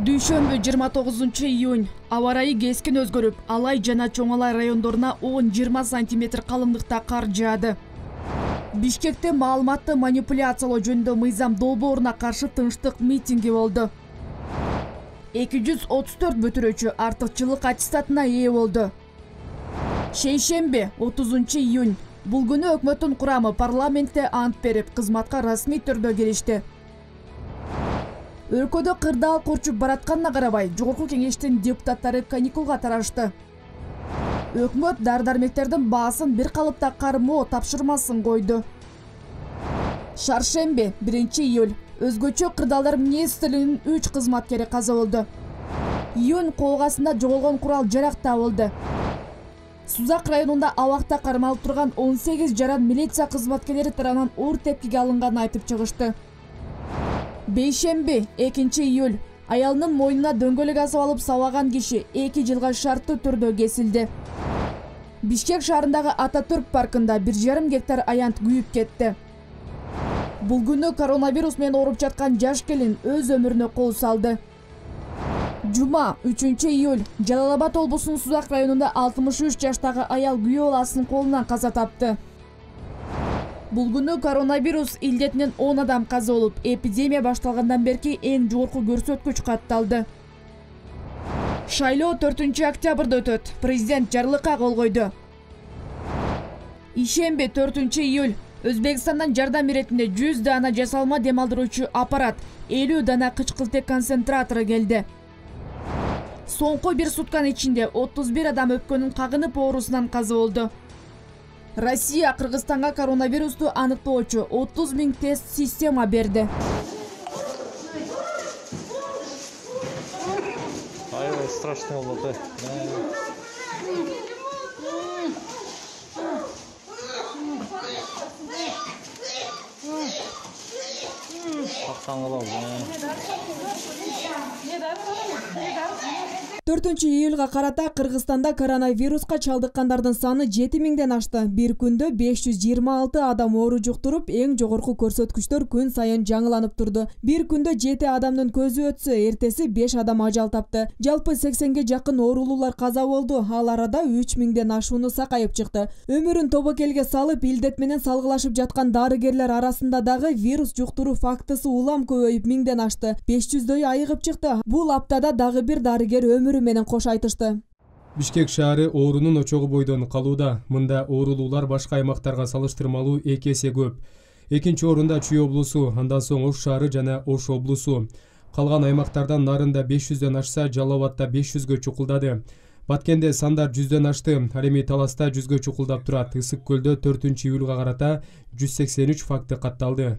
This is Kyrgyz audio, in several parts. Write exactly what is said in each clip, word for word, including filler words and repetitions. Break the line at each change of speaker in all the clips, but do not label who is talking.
Дүйшөмбү жыйырма тогузунчу июнь аба ырайы кескин өзгөрүп, Алай жана Чоң Алай райондоруна он жыйырма сантиметр калыңдыкта кар жаады. Бишкекте маалыматты манипуляциялоо жөнүндө мыйзам долбооруна каршы тынчтык митинги болду. эки жүз отуз төрт бүтүрүүчү артыкчылык аттестатына ээ болду. Шейшемби отузунчу июнь бул күнү өкмөттүн курамы парламентте ант берип, кызматка расмий түрдө киришти. Өлкөдө кырдаал курчуп баратканына карабай, жогорку кеңештин депутаттары каникулга тарашты. Өкмөт дары-дармектердин баасын бир калыпта кармоо тапшырмасын койду. Шаршемби биринчи июль өзгөчө кырдаалдар министрлигинин үч кызматкери каза болду. Июнь колгасында жоголгон курал жарак табылды. Сузак районунда абакта кармалып турган он сегиз жаран милиция кызматкерлери тарабынан оор тепкиге алынганын айтып чыгышты. Бейшемби экинчи июль аялынын мойнуна дөңгөлөк асып алып сабаган киши эки жылга шарттуу түрдө кесилди. Бишкек шаарындагы Ататүрк паркында бир жарым гектар аянт күйүп кетти. Бул күнү коронавирус менен ооруп жаткан жаш келин өз өмүрүнө кол салды. Жума үчүнчү июль Жалал-Абад облусунун Сузак районунда алтымыш үч жаштагы аял күйөө баласынын колунан каза тапты. Бул күнү коронавирус илдетинен он адам каза болуп, эпидемия башталгандан берки эң жогорку көрсөткүч катталды. Шайлоо төртүнчү октябрда өтөт. Президент жарлыкка кол койду. Ишемби төртүнчү июль Өзбекстандан жардам иретинде жүз дана жасалма демалдыруучу аппарат, элүү дана кычкылтек концентратору келди. Соңку бир сутканын ичинде отуз бир адам өпкөнүн кагынып оорусунан каза болду. Россия Кыргызстанга коронавирусту аныктоочу отуз миң тест система берди.
Аябай страшный болду.
төртүнчү июлга карата Кыргызстанда коронавируска чалдыккандардын саны жети миңден ашты. Бир күндө беш жүз жыйырма алты адам оору жуктуруп, эң жогорку көрсөткүчтөр күн сайын жаңыланып турду. Бир күндө жети адамдын көзү өтсө, эртеси беш адам ажал тапты. Жалпы сексенге жакын оорулуулар каза болду. Ал арада үч миңден ашууну сакайып чыкты. Өмүрүн тобокелге салып, илдет менен салгылашып жаткан дарыгерлер арасында дагы вирус жуктуруу фактысы улам көбөйүп миңден ашты. беш жүздөй айыгып чыкты. Бул аптада дагы бир дарыгер өмүрү менен кош айтышты.
Бишкек шаары оорунун очогу бойдон калууда. Мында оорулуулар башка аймактарга салыштырмалуу эки эсе көп. Экинчи орунда Чүй облусу, андан соң Ош шаары жана Ош облусу. Калган аймактардан нарында беш жүздөн ашса, Жалал Абадта беш жүзгө чукулдады. Баткенде сандар жүздөн ашты. Ал эми Таласта жүзгө чукулдап турат. Ысык көлдө төртүнчү июлга карата жүз сексен үч факты катталды.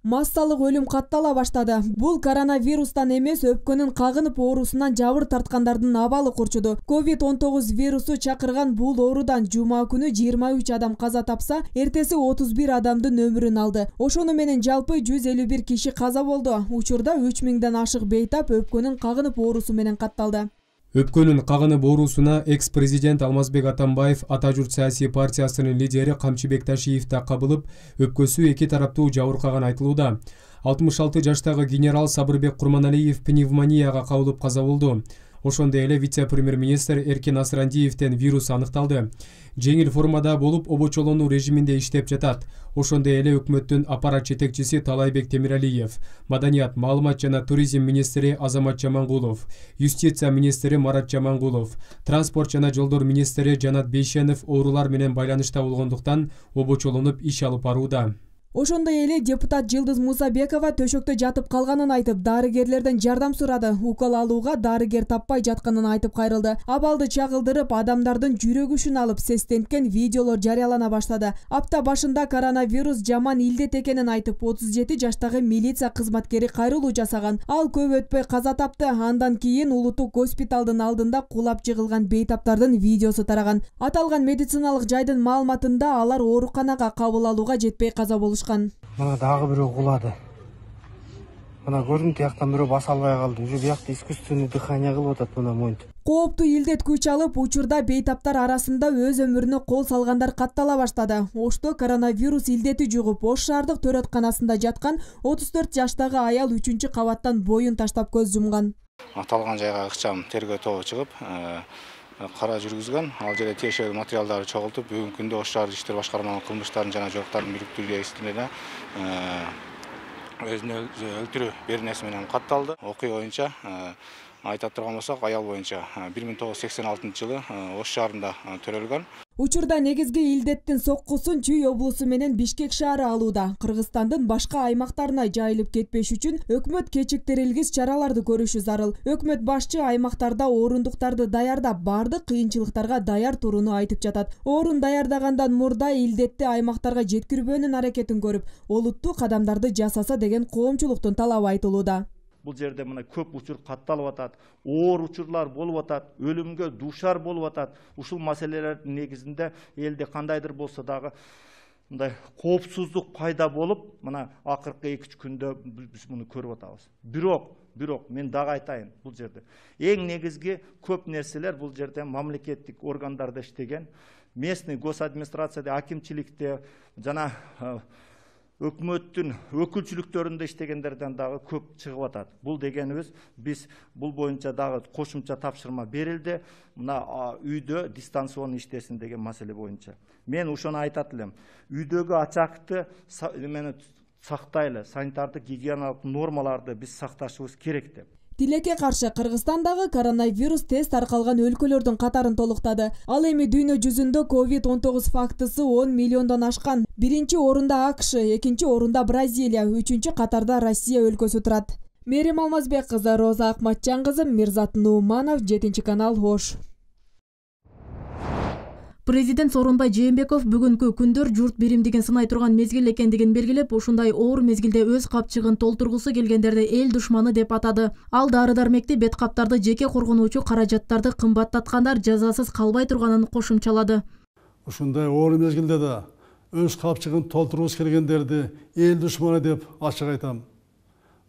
Массалык өлүм каттала баштады. Бул коронавирустан эмес, өпкөнүн кагынып оорусунан жабыр тарткандардын абалы курчуду. ковид он тогуз вирусу чакырган бул оорудан жума күнү жыйырма үч адам каза тапса, эртеси отуз бир адамдын өмүрүн алды. Ошону менен жалпы жүз элүү бир киши каза болду. Учурда үч миңден ашык бейтап өпкөнүн кагынып оорусу менен катталды.
Өпкөнүн кагынып оорусуна экс-президент Алмазбек Атамбаев Ата журт саясий партиясынын лидери Камчыбек Ташиев да кабылып, өпкөсү эки тараптуу жабыркаган айтылууда. алтымыш алты жаштагы генерал Сабырбек Курманалиев пневмонияга кабылып каза болду. Ошондой эле вице-премьер-министр Эркин Асрандиевден вирус аныкталды. Жеңил формада болуп, обочолонуу режиминде иштеп жатат. Ошондой эле өкмөттүн аппарат жетекчиси Талайбек Темиралиев, Маданият, маалымат жана туризм министри Азамат Жамангулов, юстиция министри Марат Жамангулов, транспорт жана жолдор министри Жанат Бейшенов оорулар менен байланышта болгондуктан обочолонуп иш алып барууда.
Ошондой эле депутат Жылдыз Мусабекова төшөктө жатып калганын айтып, дарыгерлерден жардам сурады. Укол алууга дарыгер таппай жатканын айтып кайрылды. Абалды чагылдырып, адамдардын жүрөгүшүн алып сестенткен видеолор жарыялана баштады. Апта башында коронавирус жаман илдет экенин айтып, отуз жети жаштагы милиция кызматкери кайрылуу жасаган. Ал көп өтпөй каза тапты. Андан кийин Улуттук госпиталдын алдында кулап жыгылган бейтаптардын видеосу тараган. Аталган медициналык жайдын маалыматында алар ооруканага кабыл алууга жетпей каза болушкан.
Мына дагы бирөө кулады. Мына көрдүм, тияктан бирөө баса албай калды. Уже биякта искусственный дыхание кылып атат мына монтип.
Кооптуу илдет күч алып, учурда бейтаптар арасында өз өмүрүнө кол салгандар каттала баштады. Ошто коронавирус илдети жугуп, Ош шаардык төрөтканасында жаткан отуз төрт жаштагы аял үчүнчү кабаттан боюн таштап көз жумган.
Аталган жайга ыкчам тергөө тобу чыгып, кара жүргүзгөн. Ал жерде тиешелүү материалдарды чогултуп, бүгүнкү күндө Ош шаардык иштер башкармалыгынын кылмыштардын жана жоктардын бириктирүү иштерине өзүнө өлтүрүү беренеси менен катталды. Окуя боюнча айта турган болсок, аял боюнча бир миң тогуз жүз сексен алтынчы жылы Ош шаарында төрөлгөн.
Учурда негизги илдеттин соккусун Чүй облусу менен Бишкек шаары алууда. Кыргызстандын башка аймактарына жайылып кетпеш үчүн өкмөт кечиктирилгис чараларды көрүшү зарыл. Өкмөт башчы аймактарда орундуктарды даярдап, бардык кыйынчылыктарга даяр турууну айтып жатат. Орун даярдагандан мурда илдетти аймактарга жеткирбөөнүн аракетин көрүп, олуттуу кадамдарды жасаса деген коомчулуктун талабы айтылууда.
Бул жерде мына көп учур катталып атат, оор учурлар болуп атат, өлүмгө дуушар болуп атат. Ушул маселелердин негизинде элде кандайдыр болсо дагы мындай коопсуздук пайда болуп, мына акыркы эки үч күндө биз муну көрүп атабыз. Бирок, бирок мен дагы айтайын, бул жерде эң негизги көп нерселер бул жерде мамлекеттик органдарда иштеген, местный госадминистрацияда, акимчиликте жана өкмөттүн өкүлчүлүктөрүндө иштегендерден дагы көп чыгып атат. Бул дегенибиз, биз бул боюнча дагы кошумча тапшырма берилди. Мына үйдө дистанционный иштесин деген маселе боюнча. Мен ошону айтат элем. Үйдөгү ачакты эмени сактайлы, санитардык гигиеналык нормаларды биз сакташыбыз керек деп.
Тилекке каршы Кыргызстандагы коронавирус тест таркалган өлкөлөрдүн катарын толуктады. Ал эми дүйнө жүзүндө ковид он тогуз фактысы он миллиондон ашкан. Биринчи орунда АКШ, экинчи орунда Бразилия, үчүнчү катарда Россия өлкөсү турат. Мерим Алмазбек кызы, Роза Акматжан кызы, Мирзат Нууманов, жетинчи канал, Ош.
Президент Сооронбай Жээнбеков бүгүнкү күндөр журт биримдигин сынай турган мезгил экендигин белгилеп, ушундай оор мезгилде өз капчыгын толтургусу келгендерди эл душманы деп атады. Ал дары-дармекти, бет каптарды, жеке коргонуучу каражаттарды кымбаттаткандар жазасыз калбай турганын кошумчалады.
Ушундай оор мезгилде да өз капчыгын толтургусу келгендерди эл душманы деп ачык айтам.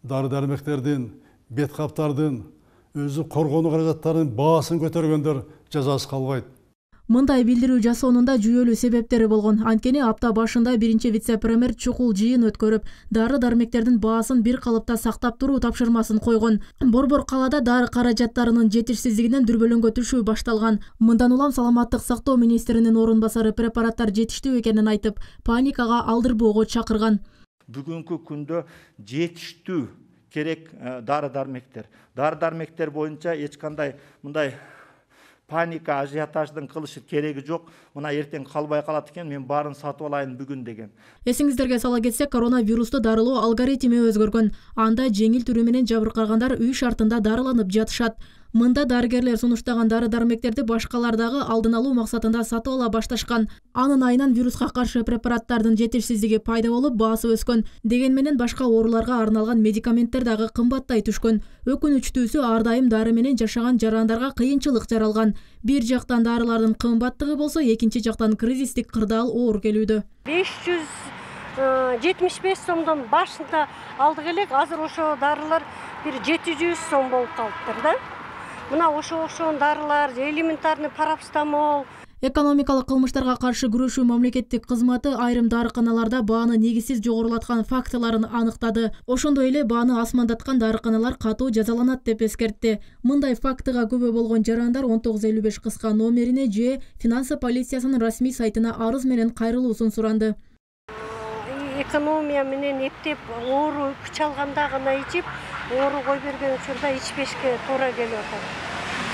Дары-дармектердин, бет каптардын, өзү коргонуу каражаттарынын баасын көтөргөндөр жазасыз калбайт.
Мындай билдирүү жасоонунда жүйөлүү себептери болгон. Анткени апта башында биринчи вице-премьер чукул жыйын өткөрүп, дары-дармектердин баасын бир калыпта сактап туруу тапшырмасын койгон. Борбор калаада дары каражаттарынын жетишсиздигинен дүрбөлөңгө түшүү башталган. Мындан улам саламаттык сактоо министринин орун басары препараттар жетиштүү экенин айтып, паникага алдырбоого чакырган.
Бүгүнкү күндө жетиштүү керек дары-дармектер. Дары-дармектер боюнча эч кандай мындай паника, ажиотаждын кылышы кереги жок. Мына эртең калбай калат экен, мен баарын сатып алайын бүгүн деген.
Эсиңиздерге сала кетсек, коронавирусту дарылоо алгоритми өзгөргөн. Анда жеңил түрү менен жабыркагандар үй шартында дарыланып жатышат. Мында дарыгерлер сунуштаган дары-дармектерди башкалар дагы алдын алуу максатында сатып ала башташкан. Анын айынан вируска каршы препараттардын жетишсиздиги пайда болуп, баасы өскөн. Деген менен башка ооруларга арналган медикаменттер дагы кымбаттай түшкөн. Өкүнүчтүүсү, ар дайым дары менен жашаган жарандарга кыйынчылык жаралган. Бир жактан дарылардын кымбаттыгы болсо, экинчи жактан кризистик кырдаал оор келүүдө.
беш жүз жетимиш беш сомдон башында алдык элек, азыр ошо дарылар бир жети жүз сом болуп калыптыр да. Мына ошо ошон дарылар, элементарный парацетамол.
Экономикалык кылмыштарга каршы күрөшүү мамлекеттик кызматы айрым дарыканаларда бааны негизсиз жогорулаткан фактыларын аныктады. Ошондой эле бааны асмандаткан дарыканалар катуу жазаланат деп эскертти. Мындай фактыга күбө болгон жарандар он тогуз элүү беш кыска номерине же финансы полициясынын расмий сайтына арыз менен кайрылуусун суранды.
Экономия менен эптеп оору күч алганда гана ичип, оору кой берген учурда ичпешке туура келип атат.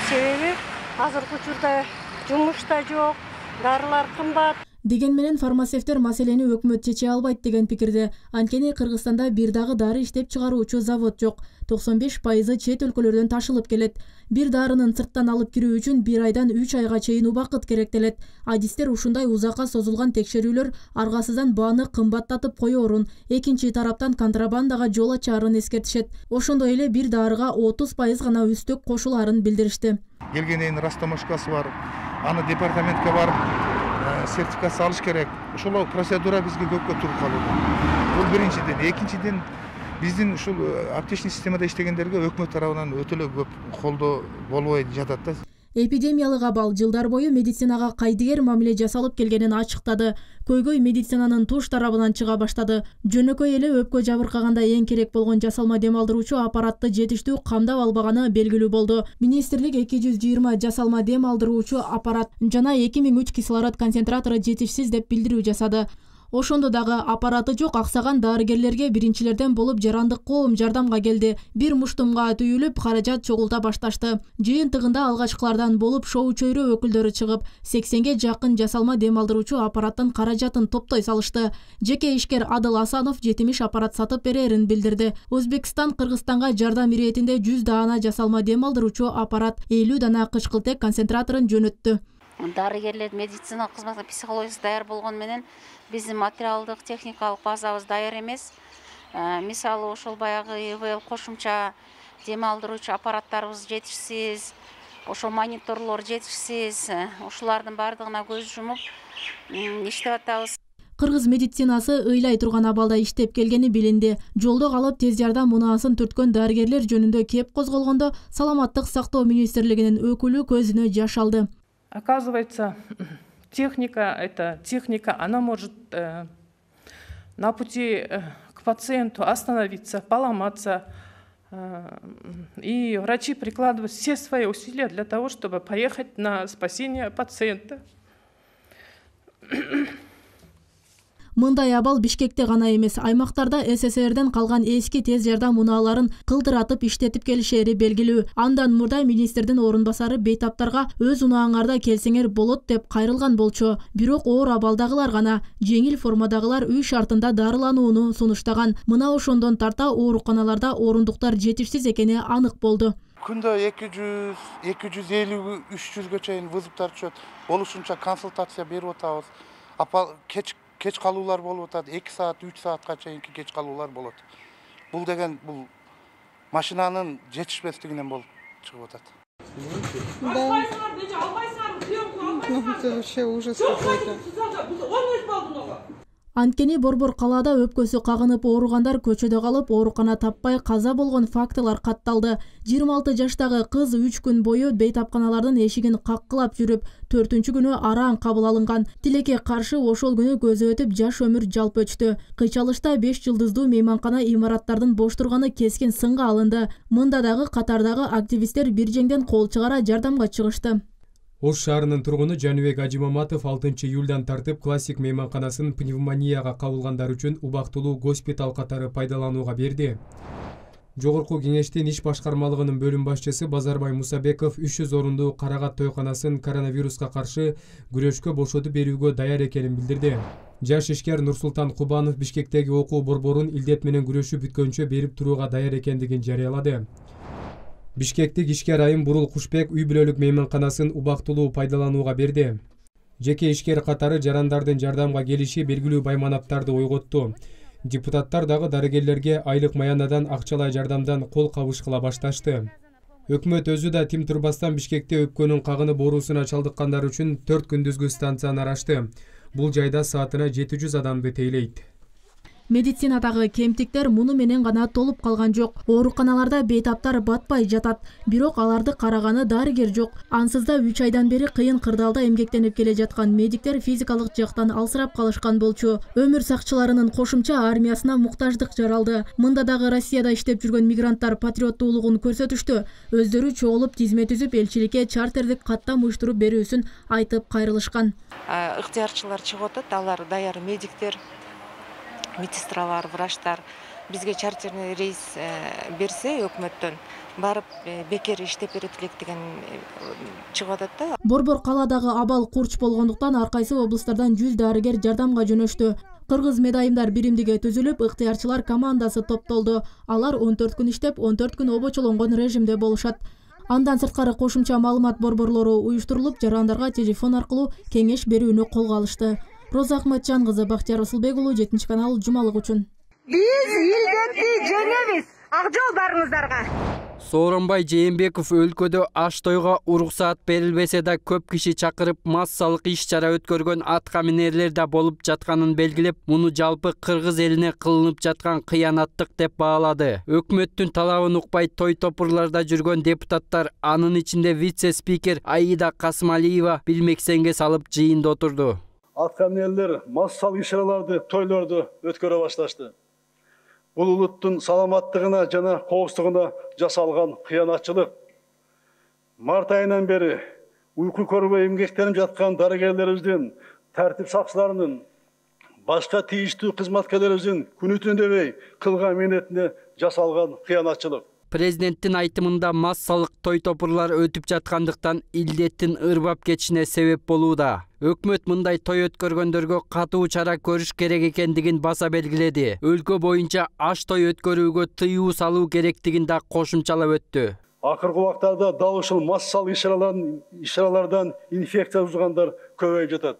Себеби азыркы учурда жумуш да жок, дарылар кымбат.
Деген менен фармацевттер маселени өкмөт чече албайт деген пикирде. Анткени Кыргызстанда бир дагы дары иштеп чыгаруучу завод жок. токсон беш пайызы чет өлкөлөрдөн ташылып келет. Бир дарынын сырттан алып кирүү үчүн бир айдан үч айга чейин убакыт керектелет. Адистер ушундай узакка созулган текшерүүлөр аргасыздан бааны кымбаттатып коёрун, экинчи тараптан контрабандага жол ачаарын эскертишет. Ошондой эле бир дарыга отуз пайыз гана үстөк кошулаарын билдиришти.
Келгенден растамашкасы бар, аны департаментке барып сертификация алыш керек. Ошол процедура бизге көпкө туруп калууда. Бул биринчиден, экинчиден биздин ушул аптечный системада иштегендерге өкмөт тарабынан өтө эле көп колдоо болбой жатат да.
Эпидемиялык абал жылдар бою медицинага кайдыгер мамиле жасалып келгенин ачыктады. Көйгөй медицинанын туш тарабынан чыга баштады. Жөнөкөй эле өпкө жабыркаганда эң керек болгон жасалма дем алдыруучу аппаратты жетиштүү камдап албаганы белгилүү болду. Министрлик эки жүз жыйырма жасалма дем алдыруучу аппарат жана эки миң үч кислород концентратору жетишсиз деп билдирүү жасады. Ошондо дагы аппараты жок аксаган дарыгерлерге биринчилерден болуп жарандык коом жардамга келди. Бир муштумга түйүлүп, каражат чогулта башташты. Жыйынтыгында алгачкылардан болуп шоу чөйрө өкүлдөрү чыгып, сексенге жакын жасалма дем алдыруучу аппараттын каражатын топтой салышты. Жеке ишкер Адыл Асанов жетимиш аппарат сатып берерин билдирди. Өзбекстан Кыргызстанга жардам иретинде жүз даана жасалма дем алдыруучу аппарат, элүү дана кычкылтек концентраторун жөнөттү.
Дарыгерлер медицина кызматы психологиясы даяр болгону менен биздин материалдык техникалык базабыз даяр эмес. Мисалы ошол баягы ИВЛ кошумча дем алдыруучу аппараттарыбыз жетишсиз, ошол мониторлор жетишсиз. Ушулардын бардыгына көз жумуп иштеп атабыз.
Кыргыз медицинасы ыйлай турган абалда иштеп келгени билинди. Жолдо калып тез жардам мунаасын түрткөн дарыгерлер жөнүндө кеп козголгондо Саламаттык сактоо министрлигинин өкүлү көзүнө жаш алды.
Оказывается, техника, эта техника, она может э, на пути э, к пациенту остановиться, поломаться. Э, и врачи прикладывают все свои усилия для того, чтобы поехать на спасение пациента.
Мындай абал Бишкекте гана эмес, аймактарда СССРден калган эски тез жардам унааларын кылдыратып иштетип келишери белгилүү. Андан мурда министрдин орун басары бейтаптарга өз унааңарда келсеңер болот деп кайрылган болчу. Бирок оор абалдагылар гана, жеңил формадагылар үй шартында дарыланууну сунуштаган. Мына ошондон тарта ооруканаларда орундуктар жетишсиз экени анык болду.
Күндө эки жүз, эки жүз элүү, үч жүзгө чейин вызовдар түшөт. Болушунча консультация берип атабыз. Апа кеч кеч калуулар болуп атат, эки саат, үч саатка чейинки кеч калуулар болот. Бул деген бул машинанын жетишпестигинен болуп чыгып атат.
Это вообще ужас какой-то.
Анткени Борбор калаада өпкөсү кагынып ооругандар көчөдө калып, оорукана таппай каза болгон фактылар катталды. жыйырма алты жаштагы кыз үч күн бою бейтапканалардын эшигин каккылап жүрүп, төртүнчү күнү араң кабыл алынган. Тилекке каршы ошол күнү көзү өтүп жаш өмүр жалп өчтү. Кыйчалышта беш жылдыздуу мейманкана имараттардын бош турганы кескин сынга алынды. Мында дагы катардагы активисттер бир жеңден кол чыгара жардамга чыгышты.
Ош шаарынын тургуну Жаныбек Ажимаматов алтынчы июлдан тартып классик мейманканасын пневмонияга кабылгандар үчүн убактылуу госпиталь катары пайдаланууга берди. Жогорку кеңештин иш башкармалыгынын бөлүм башчысы Базарбай Мусабеков үч жүз орундуу Карагат тойканасын коронавируска каршы күрөшкө бошотуп берүүгө даяр экенин билдирди. Жаш ишкер Нурсултан Кубанов Бишкектеги окуу борборун илдет менен күрөшүп бүткөнчө берип турууга даяр экендигин жарыялады. Бишкектик ишкер Айым Бурул Кушбек үй бүлөлүк мейманканасын убактылуу пайдаланууга берди. Жеке ишкер катары жарандардын жардамга келиши белгилүү байманаттарды ойготту. Депутаттар дагы дарыгерлерге айлык маянадан акчалай жардамдан кол кабышкыла башташты. Өкмөт өзү да тим турбастан Бишкекте өпкөнүн кагынып оорусуна чалдыккандар үчүн төрт күндүзгү станцияны ачты. Бул жайда саатына жети жүз адамды тейлейт.
Медицинадагы кемтиктер муну менен гана толуп калган жок. Ооруканаларда бейтаптар батпай жатат. Бирок аларды караганы дарыгер жок. Ансыз да үч айдан бери кыйын кырдаалда эмгектенип келе жаткан медиктер физикалык жактан алсырап калышкан болчу. Өмүр сакчыларынын кошумча армиясына муктаждык жаралды. Мында дагы Россияда иштеп жүргөн мигранттар патриоттуулугун көрсөтүштү. Өздөрү чогулуп тизме түзүп элчиликке чартердик каттам уюштуруп берүүсүн айтып кайрылышкан.
Ыктыярчылар чыгып атат, алар даяр медиктер, медсестралар, врачтар бизге чартерный рейс берсе өкмөттөн барып бекер иштеп берет элек деген чыгып атат да.
Борбор калаадагы абал курч болгондуктан ар кайсы облустардан жүз дарыгер жардамга жөнөштү. Кыргыз медайымдар биримдиги түзүлүп, ыктыярчылар командасы топтолду. Алар он төрт күн иштеп, он төрт күн обочолонгон режимде болушат. Андан сырткары кошумча маалымат борборлору уюштурулуп, жарандарга телефон аркылуу кеңеш берүүнү колго алышты. Роза Ахматжан кызы, Бактияр Расулбек уулу, жетинчи канал, жумалык үчүн.
Биз илдетти жеңебиз. Ак жол барыңыздарга. Сооронбай Жээнбеков өлкөдө аш тойго уруксаат берилбесе да көп киши чакырып массалык иш-чара өткөргөн атка минерлер да болуп жатканын белгилеп, муну жалпы кыргыз элине кылынып жаткан кыянаттык деп баалады. Өкмөттүн талабын укпай той топурларда жүргөн депутаттар, анын ичинде вице-спикер Аида Касымалиева билмексенге салып жыйында отурду.
Атка минерлер массалык иш-чараларды, тойлорду өткөрө башташты. Бул улуттун саламаттыгына жана коопсуздугуна жасалган кыянатчылык. Март айынан бери уйку көрбөй эмгектенип жаткан дарыгерлерибиздин, тартип сакчыларынын, башка тийиштүү кызматкерлерибиздин күнү түнү дебей кылган мээнетине жасалган кыянатчылык.
Президенттин айтымында массалык той топурлар өтүп жаткандыктан илдеттин ырбап кетишине себеп болууда. Өкмөт мындай той өткөргөндөргө катуу чара көрүш керек экендигин баса белгиледи. Өлкө боюнча аш той өткөрүүгө тыюу салуу керектигин да кошумчалап өттү.
Акыркы убактарда дал ушул массалык иш-чаралардан инфекция узгандар көбөйүп жатат.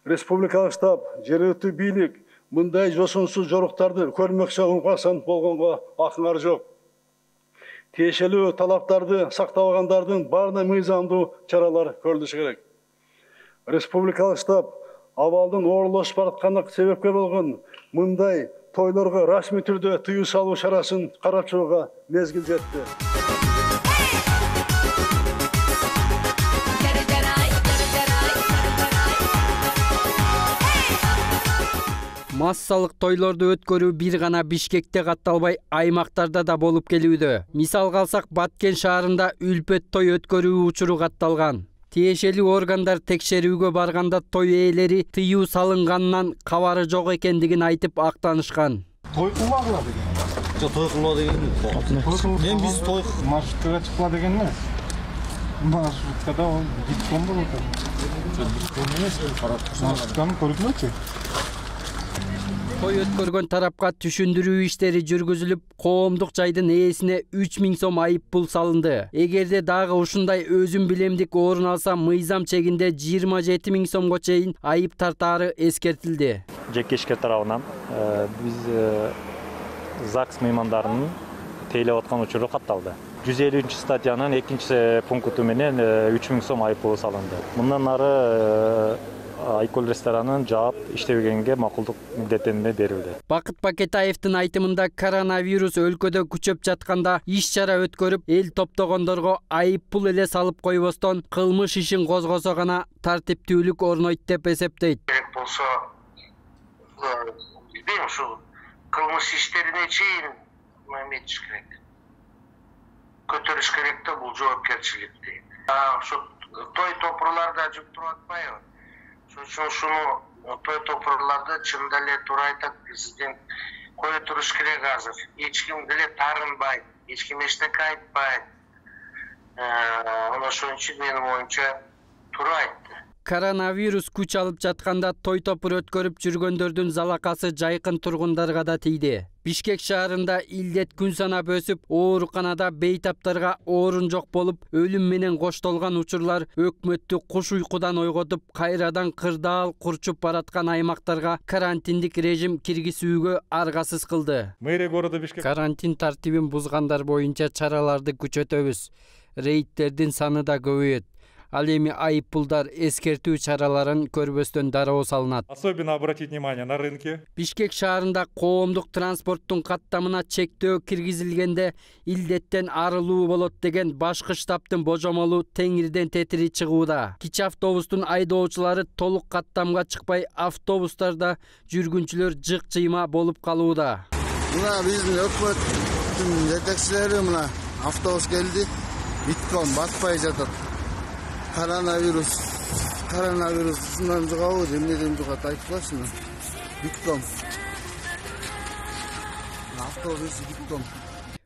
Республикалык штаб, жергиликтүү бийлик мындай жосунсуз жоруктарды көрмөкчү уңгасан болгонго акыңар жок. Тиешелүү талаптарды сактабагандардын баарына мыйзамдуу чаралар көрүлүшү керек. Республикалык штаб абалдын оорлошуп баратканына себепкер болгон мындай тойлорго расмий түрдө тыюу салуу чарасын карап чыгууга мезгил жетти.
Массалык тойлорду өткөрүү бир гана Бишкекте катталбай, аймактарда да болуп келүүдө. Мисалга алсак, Баткен шаарында үлпөт той өткөрүү учуру катталган. Тиешелүү органдар текшерүүгө барганда той ээлери тыюу салынганынан кабары жок экендигин айтып актанышкан.
Той кылмагыла деген. Жок, той кылма деген. Мен биз той маршруткага чыкпа деген эмес. Маршруткада ол биткон болот. Биткон эмес, маршрутканы көрүнөчү.
Той өткөргөн тарапка түшүндүрүү иштери жүргүзүлүп, коомдук жайдын ээсине үч миң сом айып пул салынды. Эгерде дагы ушундай өзүм билемдик орун алса, мыйзам чегинде жыйырма жети миң сомго чейин айып тартаары эскертилди.
Жеке ишкер тарабынан биз ЗАГС меймандарынын тейлеп аткан учуру катталды. жүз элүүнчү статьянын экинчи пункту менен үч миң сом айып пулу салынды. Мындан ары Айкөл ресторанын жаап иштебегенге макулдук милдеттенме берилди.
Бакыт Бакетаевдин айтымында коронавирус өлкөдө күчөп жатканда иш-чара өткөрүп, эл топтогондорго айып пул эле салып койбостон кылмыш ишин козгосо гана тартиптүүлүк орнойт деп эсептейт.
Керек болсо, билбейм, ушул кылмыш иштерине чейин эметиш керек. Көтөрүш керек да бул жоопкерчиликти. Ушу той топурларда жүктүрүп атпайбы? Ушуну той топурларды чынында эле туура айтат президент, кое туруш керек азыр. Эч ким деле тарынбайт, эч ким эчтеке айтпайт. Ошон үчүн менин оюмча туура айтты.
Коронавирус күч алып жатканда той топур өткөрүп жүргөндөрдүн залакасы жайкын тургундарга да тийди. Бишкек шаарында илдет күн санап өсүп, ооруканада бейтаптарга орун жок болуп, өлүм менен коштолгон учурлар өкмөттү куш уйкудан ойготуп, кайрадан кырдаал курчуп бараткан аймактарга карантиндик режим киргизүүгө аргасыз кылды.
Мэрия города Бишкек
карантин тартибин бузгандар боюнча чараларды күчөтөбүз. Рейдтердин саны да көбөйөт. Ал эми айып пулдар эскертүү чараларын көрбөстөн дароо салынат.
Особенно обратить внимание на рынке.
Бишкек шаарында коомдук транспорттун каттамына чектөө киргизилгенде илдеттен арылуу болот деген башкы штабтын божомолу теңирден тетири чыгууда. Кичи автобустун айдоочулары толук каттамга чыкпай, автобустарда жүргүнчүлөр жык-жыйма болуп калууда.
Мына биздин өкмөттүн жетекчилери мына автобус келди, биткон батпай жатат. Коронавирус, коронавирус ушундан жугабы, эмнеден жугат айтпачы. Битком. Автобус битком.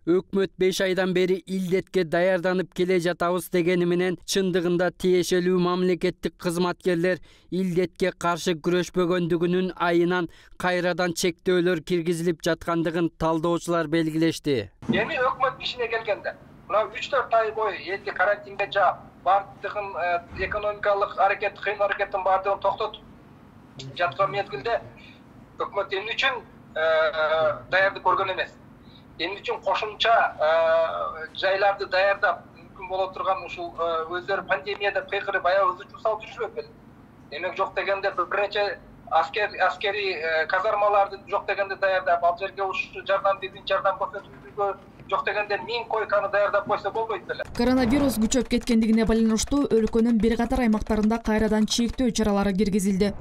Өкмөт беш айдан бери илдетке даярданып келе жатабыз дегени менен чындыгында тиешелүү мамлекеттик кызматкерлер илдетке каршы күрөшпөгөндүгүнүн айынан кайрадан чектөөлөр киргизилип жаткандыгын талдоочулар белгилешти.
Эми өкмөт ишине келгенде, мына үч төрт ай бою элди карантинге жаап, бардыгын экономикалык аракет, кыйын аракеттин бардыгын токтотуп жаткан мезгилде өкмөт эмне үчүн даярдык көргөн эмес? эмне үчүн кошумча жайларды даярдап мүмкүн боло турган ушул өздөрү пандемияда кыйкырып аябыз учур салып жүрүшпөйт беле? Демек жок дегенде бир нече аскер аскерий казармаларды жок дегенде даярдап, ал жерге ушу жардам биздин жардам көрсөтүүгө жок дегенде миң койканы даярдап койсо болбойт беле?
Коронавирус күчөп кеткендигине байланыштуу өлкөнүн бир катар аймактарында кайрадан чектөө чаралары киргизилди.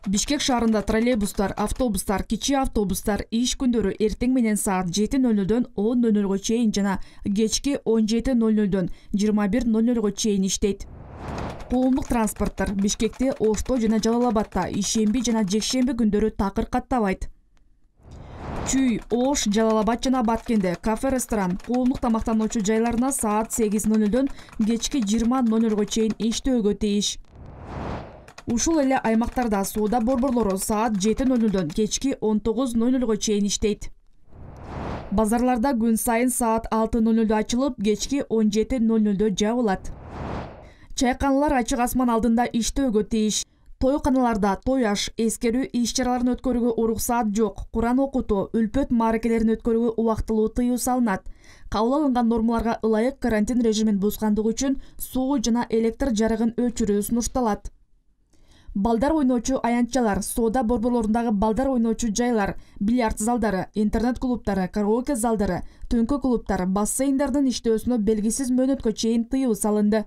Бишкек шаарында троллейбустар, автобустар, кичи автобустар иш күндөрү эртең менен саат жети ноль нольдон он ноль нольго чейин жана кечки он жети ноль нольдон жыйырма бир ноль нольго чейин иштейт. Коомдук транспорттор Бишкекте, Ошто жана Жалал Абадта ишемби жана жекшемби күндөрү такыр каттабайт. Чүй, Ош, Жалал Абад жана Баткенде кафе, ресторан, коомдук тамактануучу жайларына саат сегиз ноль нольдон кечки жыйырма ноль нольго чейин иштөөгө тийиш. Ушул эле аймактарда соода борборлору саат жети ноль нольдон кечки он тогуз ноль нольго чейин иштейт. Базарларда күн сайын саат алты ноль нольдо ачылып, кечки он жети ноль нольдо жабылат. Чайканалар ачык асман алдында иштөөгө тийиш. Тойканаларда той аш, эскерүү иш-чараларын өткөрүүгө уруксаат жок. Куран окутуу, үлпөт мааракелерин өткөрүүгө убактылуу тыюу салынат. Кабыл алынган нормаларга ылайык карантин режимин бузгандыгы үчүн суу жана электр жарыгын өчүрүү сунушталат. Балдар ойноочу аянтчалар, соода борборлорундагы балдар ойноочу жайлар, бильярд залдары, интернет клубтары, караоке залдары, түнкү клубтар, бассейндардын иштөөсүнө белгисиз мөөнөткө чейин тыюу салынды.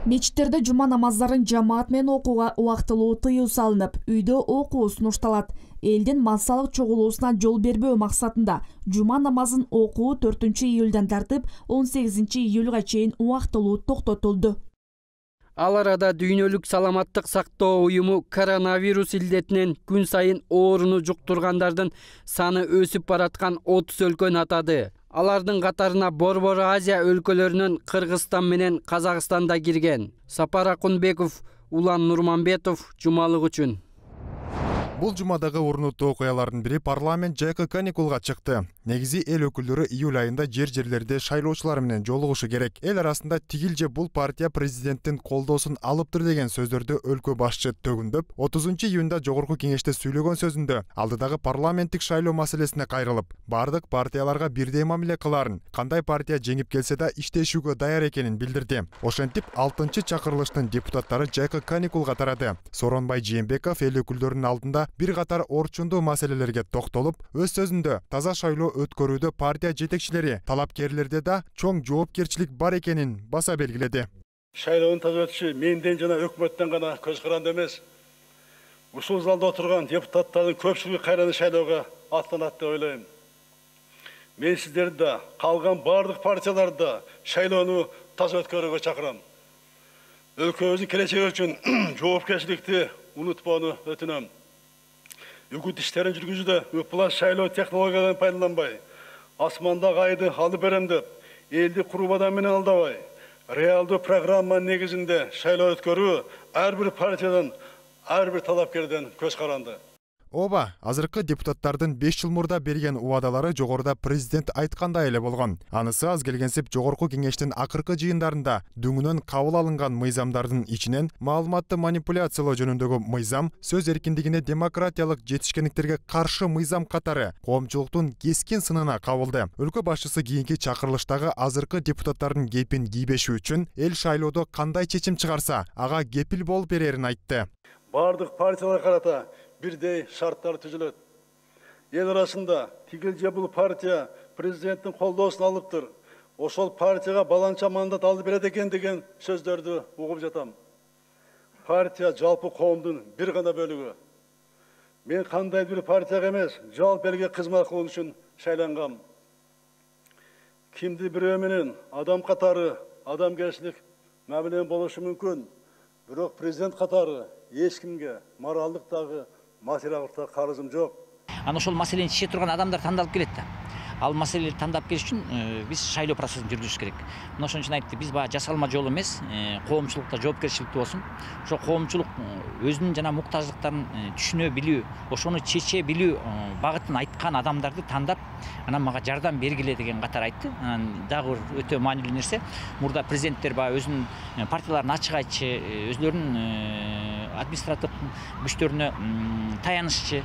Мечиттерде жума намаздарын жамаат менен окууга убактылуу тыюу салынып, үйдө окуу сунушталат. Элдин массалык чогулуусуна жол бербөө максатында жума намазын окуу төртүнчү июлдан тартып он сегизинчи июлга чейин убактылуу токтотулду.
Ал арада Дүйнөлүк саламаттык сактоо уюму коронавирус илдетинен күн сайын ооруну жуктургандардын саны өсүп бараткан отуз өлкөнү атады. Алардын катарына Борбор Азия өлкөлөрүнөн Кыргызстан менен Казакстан да кирген. Сапар Акунбеков, Улан Нурманбетов, Жумалык үчүн.
Бул жумадагы орнуттуу окуялардын бири парламент жайкы каникулга чыкты. Негизи эл өкүлдөрү июль айында жер-жерлерде шайлоочулар менен жолугушу керек. Эл арасында тигил же бул партия президенттин колдоосун алыптыр деген сөздөрдү өлкө башчы төгүндөп, отузунчу июнда жогорку кеңеште сүйлөгөн сөзүндө алдыдагы парламенттик шайлоо маселесине кайрылып, бардык партияларга бирдей мамиле кыларын, кандай партия жеңип келсе да иштешүүгө даяр экенин билдирди. Ошентип алтынчы чакырылыштын депутаттары жайкы каникулга тарады. Сооронбай Жээнбеков эл өкүлдөрүнүн алдында бир катар орчундуу маселелерге токтолуп, өз сөзүндө таза шайлоо өткөрүүдө партия жетекчилери, талапкерлерде да чоң жоопкерчилик бар экенин баса белгиледи.
Шайлоонун таза өтүшү менден жана өкмөттөн гана көз каранды эмес. Ушул залда отурган депутаттардын көпчүлүгү кайрадан шайлоого аттанат деп ойлойм. Мен сиздерди да, калган бардык партияларды да шайлоону таза өткөрүүгө чакырам. Өлкөбүздүн келечеги үчүн жоопкерчиликти унутпоону өтүнөм. Үгүт иштерин жүргүзүүдө ыплас шайлоо технологияларын пайдаланбай, асмандагы айды алып берем деп, элди курмадан менен алдабай, реалдуу программа негизинде шайлоо өткөрүү ар бир партиядан, ар бир талапкерден көз каранды.
Ооба, азыркы депутаттардын беш жыл мурда берген убадалары жогоруда президент айткандай эле болгон. Анысы аз келгенсип жогорку кеңештин акыркы жыйындарында дүңүнөн кабыл алынган мыйзамдардын ичинен маалыматты манипуляциялоо жөнүндөгү мыйзам, сөз эркиндигине демократиялык жетишкендиктерге каршы мыйзам катары коомчулуктун кескин сынына кабылды. Өлкө башчысы кийинки чакырылыштагы азыркы депутаттардын кепин кийбеши үчүн эл шайлоодо кандай чечим чыгарса, ага кепил болуп берерин айтты.
Бардык партиялар карата бирдей шарттар түзүлөт. Эл арасында тигил же бул партия президенттин колдоосун алыптыр, ошол партияга баланча мандат алып берет экен деген сөздөрдү угуп жатам. Партия жалпы коомдун бир гана бөлүгү. Мен кандай бир партияга эмес, жалпы элге кызмат кылуу үчүн шайлангам. Кимди бирөө менен адам катары адамгерчилик мамиле болушу мүмкүн, бирок президент катары эч кимге моралдык дагы материалдык карызым жок.
Ана ошол маселени чече турган адамдар тандалып келет да. Ал маселени тандап келиш үчүн биз шайлоо процессин жүргүзүш керек. Мына ошон үчүн айтты, биз баягы жасалма жол эмес, коомчулукта жоопкерчиликтүү болсун. Ошо коомчулук өзүнүн жана муктаждыктарын түшүнө билүү, ошону чече билүү багытын айткан адамдарды тандап, анан мага жардам бергиле деген катар айтты. Дагы өтө маанилүү нерсе, мурда президенттер баягы өзүнүн партияларын ачык айтчы, өзлөрүнүн административдик күчтөрүнө таянышчы.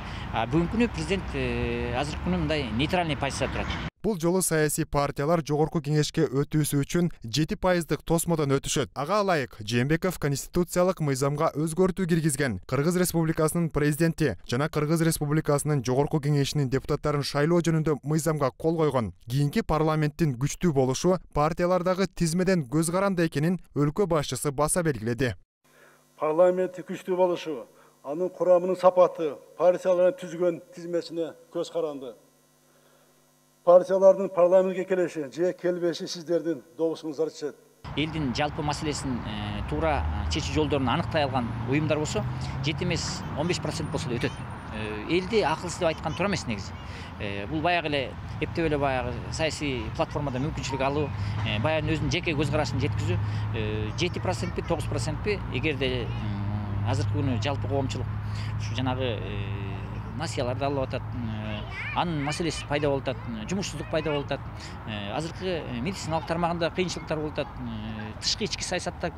Бүгүнкү күнү президент азыркы күнү мындай нейтральный позицияда турат.
Бул жолу саясий партиялар жогорку кеңешке өтүүсү үчүн жети пайыздык тосмодон өтүшөт. Ага ылайык Жээнбеков конституциялык мыйзамга өзгөртүү киргизген Кыргыз Республикасынын президенти жана Кыргыз Республикасынын жогорку кеңешинин депутаттарын шайлоо жөнүндө мыйзамга кол койгон. Кийинки парламенттин күчтүү болушу партиялардагы тизмеден көз каранды экенин өлкө башчысы баса белгиледи.
Парламенттин күчтүү болушу, анын курамынын сапаты партиялардын түзгөн тизмесине көз каранды. Партиялардын парламентке келиши же келбеши сиздердин добусуңуздар чечет.
Элдин жалпы маселесин туура чечүү жолдорун аныктай алган уюмдар болсо, жети эмес он беш процент болсо да өтөт. Элди акылсыз деп айткан туура эмес негизи. Бул баягы эле эптеп эле баягы саясий платформада мүмкүнчүлүк алуу, баягы өзүнүн жеке көз карашын жеткизүү жети процентпи, тогуз процентпи, эгерде азыркы күнү жалпы коомчулук ушу жанагы насыяларды алып атат, анын маселеси пайда болуп атат, жумушсуздук пайда болуп атат, азыркы медициналык тармагында кыйынчылыктар болуп атат, тышкы ички саясатта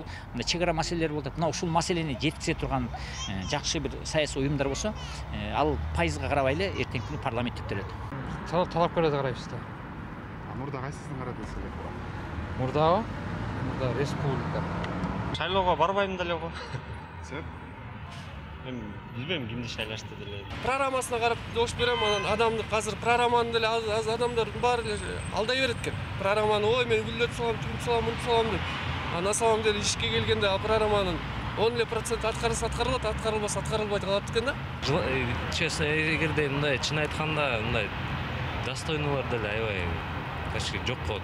чек ара маселелер болуп атат. Мына ушул маселени жеткизе турган жакшы бир саясий уюмдар болсо, ал пайызга карабай эле эртеңки күнү парламент түптөлөт.
Талапкерлерди карайбыз да.
Мурда кайсысын карадыңыз эле?
Мурдабы? Мурда республика.
Шайлоого барбайм деле го.
Сен?
Мен билбейм кимди шайлашты деле.
Программасына карап добуш берем, анан адамды азыр программаны деле аз адамдардын баары эле алдай берет экен. Программаны ой мен гүлдөтүп салам, тигип салам, мынтип салам деп. А на самом деле ишке келгенде ал программанын он эле процент аткарылса аткарылат, аткарылбаса аткарылбайт калат экен да.
Честно, эгерде мындай чын айтканда мындай достойнулар деле аябай качки жок болот.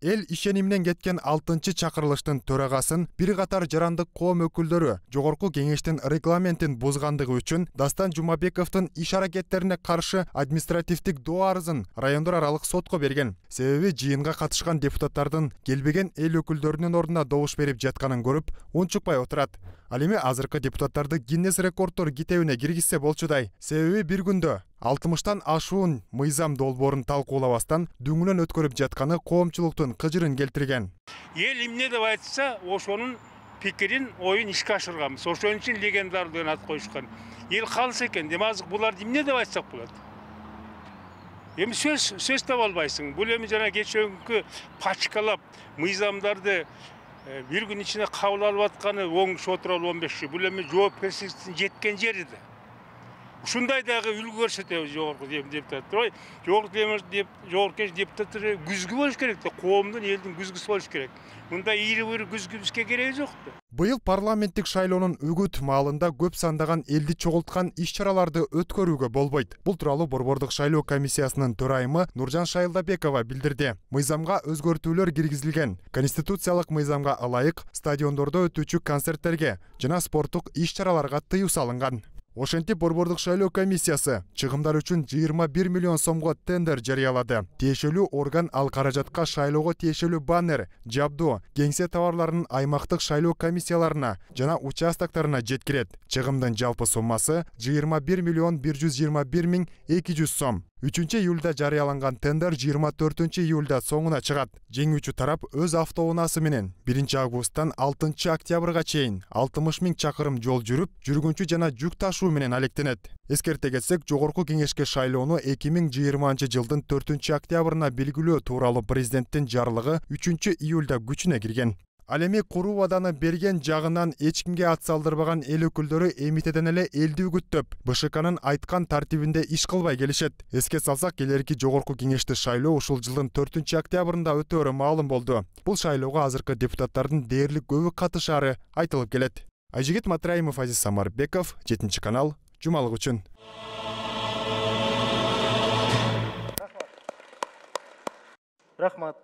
Эл ишениминен кеткен алтынчы чакырылыштын төрагасын бир катар жарандык коом өкүлдөрү жогорку кеңештин регламентин бузгандыгы үчүн Дастан Жумабековдун иш аракеттерине каршы административдик доо арызын райондор аралык сотко берген. Себеби жыйынга катышкан депутаттардын келбеген эл өкүлдөрүнүн ордуна добуш берип жатканын көрүп, унчукпай отурат. Ал эми азыркы депутаттарды Гиннес рекорддор китебине киргизсе болчудай. Себеби бир күндө алтымыштан ашуун мыйзам долбоорун талкуулабастан дүңүнөн өткөрүп жатканы коомчулуктун кыжырын келтирген.
Эл эмне деп айтса, ошонун пикирин, оюн ишке ашырганбыз. Ошон үчүн легендар деген ат коюшкан. Эл калса экен, демек буларды эмне деп айтсак болот? Эми сөз сөз таба албайсың. Бул эми жана кечээкү пачкалап мыйзамдарды бир күн ичинде кабыл алып атканы оң шотурал он беш. Бул эми жоопкерчиликтин жеткен жери да. Ушундай дагы үлгү көрсөтөбүз жогорку депутаттар. Жогорку депутаттар күзгү болуш керек да, коомдун, элдин күзгүсү болуш керек. Мындай ийри бир күзгүбүзгө кереги жок да.
Быйыл парламенттик шайлоонун үгүт маалында көп сандаган элди чогулткан иш-чараларды өткөрүүгө болбойт. Бул тууралуу Борбордук шайлоо комиссиясынын төрайымы Нуржан Шайылдабекова билдирди. Мыйзамга өзгөртүүлөр киргизилген. Конституциялык мыйзамга ылайык стадиондордо өтүүчү концерттерге жана спорттук иш-чараларга тыюу салынган. Ошентип Борбордук шайлоо комиссиясы чыгымдар үчүн жыйырма бир миллион сомго тендер жарыялады. Тиешелүү орган ал каражатка шайлоого тиешелүү баннер, жабдуу, кеңсе товарларынын аймактык шайлоо комиссияларына жана участоктарына жеткирет. Чыгымдын жалпы суммасы жыйырма бир миллион бир жүз жыйырма бир миң эки жүз сом. үчүнчү июлда жарыяланган тендер жыйырма төртүнчү июлда соңуна чыгат. Жеңүүчү тарап өз автоунаасы менен биринчи августтан алтынчы октябрга чейин алтымыш миң чакырым жол жүрүп, жүргүнчү жана жүк ташуу менен алектенет. Эскерте кетсек, жогорку кеңешке шайлоону эки миң жыйырманчы жылдын төртүнчү октябрына белгилөө тууралуу президенттин жарлыгы үчүнчү июлда күчүнө кирген. Ал эми куруу ваданы берген жагынан эч кимге ат салдырбаган эл өкүлдөрү эмитеден эле элди үгүттөп, БШКнын айткан тартибинде иш кылбай келишет. Эске салсак, келерки жогорку кеңешти шайлоо ушул жылдын төртүнчү октябрында өтөөрү маалым болду. Бул шайлоого азыркы депутаттардын дээрлик көбү катышаары айтылып келет. Айжигит Матраимов, Азиз Самарбеков, жетинчи канал, жумалык үчүн.
Рахмат.